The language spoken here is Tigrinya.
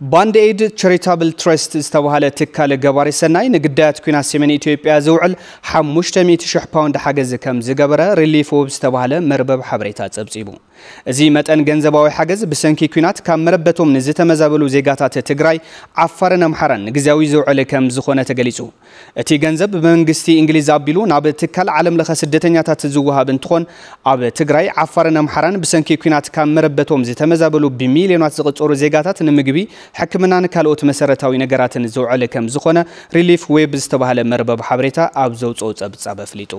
ባንድ ኤድ ቻሪታብል ትረስት ዝተባህለ ትካል ገባሪ ሰናይ ንግዳያት ኲናት ሰሜን ኢትዮጵያ ዝውዕል ሓሙሽተ ሚእቲ ሽሕ ፓውንድ ሓገዝ ከም ዝገበረ ሪሊፍ ዌብ ዝተባህለ መርበብ ሓበሬታ ጸብጺቡ። እዚ መጠን ገንዘባዊ ሓገዝ ብሰንኪ ኲናት ካብ መረበቶም ንዝተመዛበሉ ዜጋታት ትግራይ፣ ዓፋርን ኣምሓራን ንግዜያዊ ዝውዕል ከም ዝኾነ ተገሊጹ። እቲ ገንዘብ ብመንግስቲ እንግሊዝ ኣቢሉ ናብ ትካል ዓለም ለኸ ስደተኛታት ዝወሃብ እንትኾን፣ ኣብ ትግራይ፣ ዓፋርን ኣምሓራን ብሰንኪ ኲናት ካብ መረበቶም ዝተመዛበሉ ብሚልዮናት ዝቕጸሩ ዜጋታት ንምግቢ፣ ሕክምናን ካልኦት መሰረታዊ ነገራትን ዝውዕል ከም ዝኾነ ሪሊፍ ዌብ ዝተባህለ መርበብ ሓበሬታ ኣብ ዘውፅኦ ጸብጻብ ኣፍሊጡ።